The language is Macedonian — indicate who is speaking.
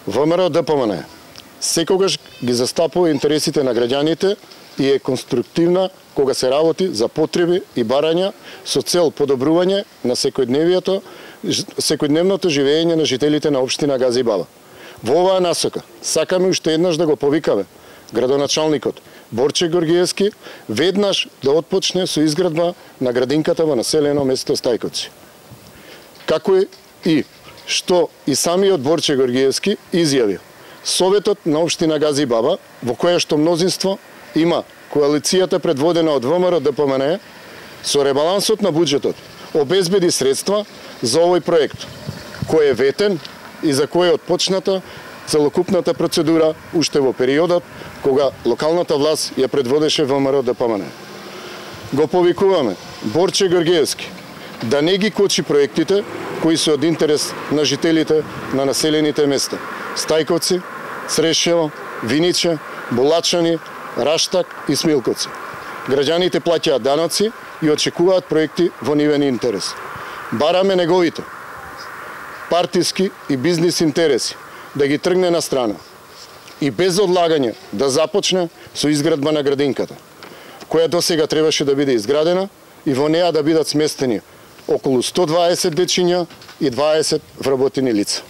Speaker 1: ВМРО ДПМН секогаш ги застапува интересите на граѓаните и е конструктивна кога се работи за потреби и барања со цел подобрување на секојдневното живење на жителите на општина Гази Баба. Во оваа насока сакаме уште еднаш да го повикаме градоначалникот Борче Георгиевски веднаш да отпочне со изградба на градинката во населено место Стајковци. Како и што и самиот Борче Георгиевски изјави, Советот на општина Гази Баба, во која што мнозинство има коалицијата предводена од ВМРО ДПМН, со ребалансот на буџетот обезбеди средства за овој проект, кој е ветен и за кој е отпочната целокупната процедура уште во периодот кога локалната власт ја предводеше ВМРО ДПМН. Го повикуваме Борче Георгиевски да не ги кочи проектите кои се од интерес на жителите на населените места Стајковци, Црешево, Виниче, Булачани, Раштак и Смилковци. Граѓаните плаќаат даноци и очекуваат проекти во нивен интерес. Бараме неговите партиски и бизнис интереси да ги тргне на страна и без одлагање да започне со изградба на градинката, која досега требаше да биде изградена и во неа да бидат сместени околу 120 дечиња и 20 вработени лица.